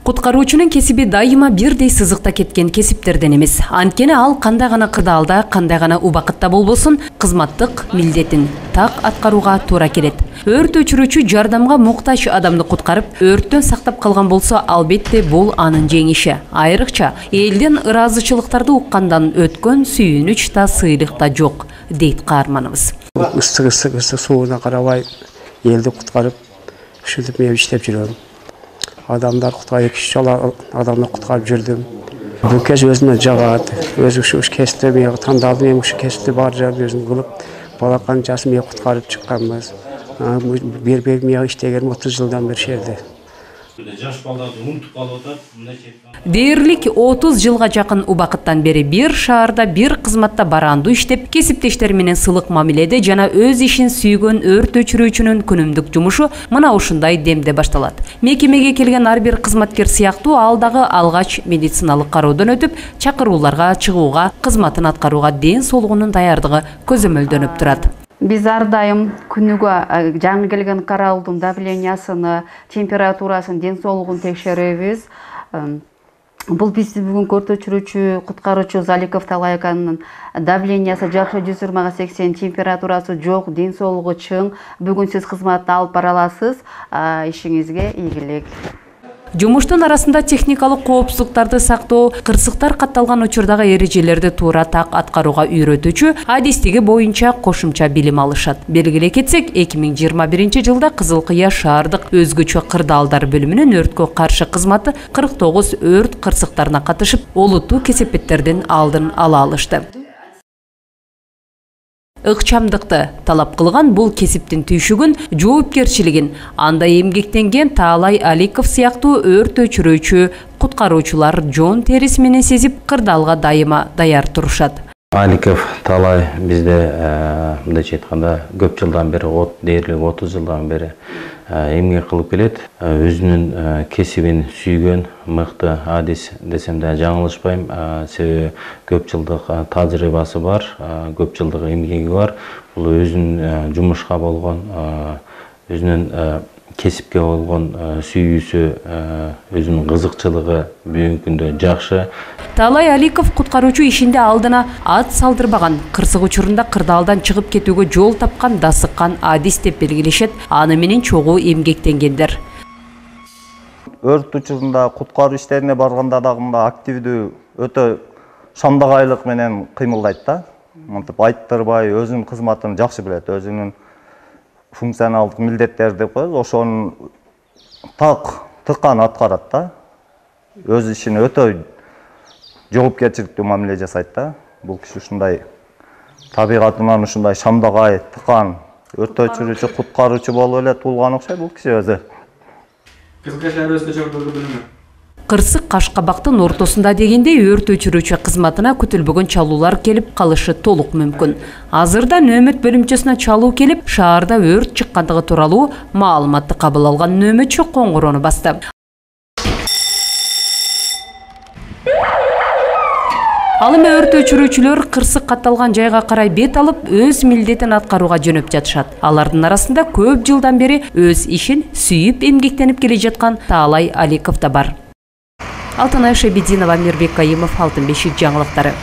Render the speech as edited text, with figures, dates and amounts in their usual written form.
Куткаруучунун кесиби дайыма бирдей сызыкта кеткен кесиптерден эмес. Анткени ал кандай гана кырдаалда, кандай гана убакытта болбосун, кызматтык милдетин так аткарууга туура келет. Өрт өчүрүүчү жардамга муктаж адамды куткарып, өрттөн сактап калган болсо, албетте бул анын жеңиши. Айрыкча элден ыраазычылыктарды уккандан өткөн сүйүнүч да сыйлык да жок, дейт каарманыбыз. Ысык сууна карабай элди куткарып, ушинтип мен иштеп жүрөм. Адамдар куткарып, адамды куткарып жүрдүм. Бул кез өзүмө жагат. Өзү ушу кесипти мен тандалдым, мен ушу кесипти бар жагы өзүм кылып, балакан жасым мен куткарып чыкканбыз. Бербек мен иштегеним 30 жылдан бери шерде. Жаш балдарды унутуп калып атат. Дээрлик 30 жылга жакын убакыттан бери бир шаарда, бир кызматта барандуу иштеп, кесиптештери менен сылык мамиледе жана өз ишин сүйгөн өрт өчүрүүчүнүн күнүмдүк жумушу мына ушундай демде башталат. Мекемеге келген ар бир кызматкер сыяктуу ал дагы алгач медициналык кароодон өтүп, чакырууларга чыгууга, кызматын аткарууга ден соолугунун даярдыгы көзөмөлдөнүп турат. Биз ар дайым күнүгө жаңы келген каралдын давлениясыны, температурасын, ден соолугун текшеребиз. Бул биз бүгүн өрт өчүрүүчү, куткаруучу Заликов Талай аканын давлениясы жакшы 120/80, температурасы жок, ден соолугу чың. Бүгүн сиз кызматты алып бара аласыз. Ишиңизге ийгилик. Жумуштун арасында техникалык коопсуздуктарды сактоо, кырсыктар катталган учурдагы эрежелерди туура так аткарууга үйрөтүүчү адистиги боюнча кошумча билим алышат. Белгилей кетсек, 2021 жылда Кызыл Кыя шаардык өзгөчө кырдаалдар бөлүмүнүн өрткө каршы кызматы 49 өрт кырсыктарына катышып, олуттуу кесепеттердин алдын ала алышты. Ыкчамдыкты талап кылган бул кесиптин түйшүгүн, жоопкерчилигин анда эмгектенген Таалай Аликов сыяктуу өрт өчүрүүчү, куткаруучулар жон териси менен сезип, кырдаалга дайыма даяр турушат. Аликов Талай бизде мындайча айтканда көп жылдан бери, дээрлик 30 жылдан бери эмгек кылып келет. Өзүнүн кесибин сүйгөн мыкты адис десем да жаңылышпайм. Себеби көп жылдык тажрыйбасы бар, көп жылдык эмгеги бар. Бул өзүнүн жумушка болгон, өзүнүн кесипке болгон сүйүүсү, өзүнүн кызыкчылыгы бүгүнкү күндө жакшы. Таалай Аликов куткаруучу ишинде алдына ат салдырбаган, кырсык учурунда кырдаалдан чыгып кетүүгө жол тапкан, дасыккан адис деп белгилешет. Аны менен чогуу эмгектенгендер. Өрт учурунда куткаруу иштерине барганда дагы активдүү, өтө шамдагайлык менен кыймылдайт да. Мынтип айттырбай, өзүнүн кызматын жакшы билет, өзүнүн функционалдык милдеттерди деп коебуз, ошонун тыккан аткарат да. Өз ишине өтө жоопкерчиликтүү мамиле жасайт да. Бул киши ушундай табигатынан ушундай шамдагай, тыккан өрт өчүрүүчү, куткаруучу болуп эле туулган окшойт бул киши өзү. Кызыл Кыя өзгөчө бөлүмү. Кырсык Кашкабактын ортосунда дегендей өрт өчүрүүчү кызматына күтүлбөгөн чалуулар келип калышы толук мүмкүн. Азырда нөөмөт бөлүмчөсүнө чалуу келип, шаарда өрт чыккандыгы тууралуу маалыматты кабыл алган нөөмөтчү коңгуроону басты. Ал эми өрт өчүрүүчүлөр кырсык катталган жайга карай бет алып, өз милдетин аткарууга жөнөп жатышат. Алардын арасында көп жылдан бери өз ишин сүйүп эмгектенип келе жаткан Таалай Аликов да бар. Алтынай Шебединова, Мирбек Кайымов, Алтын бешик жаңылыктары.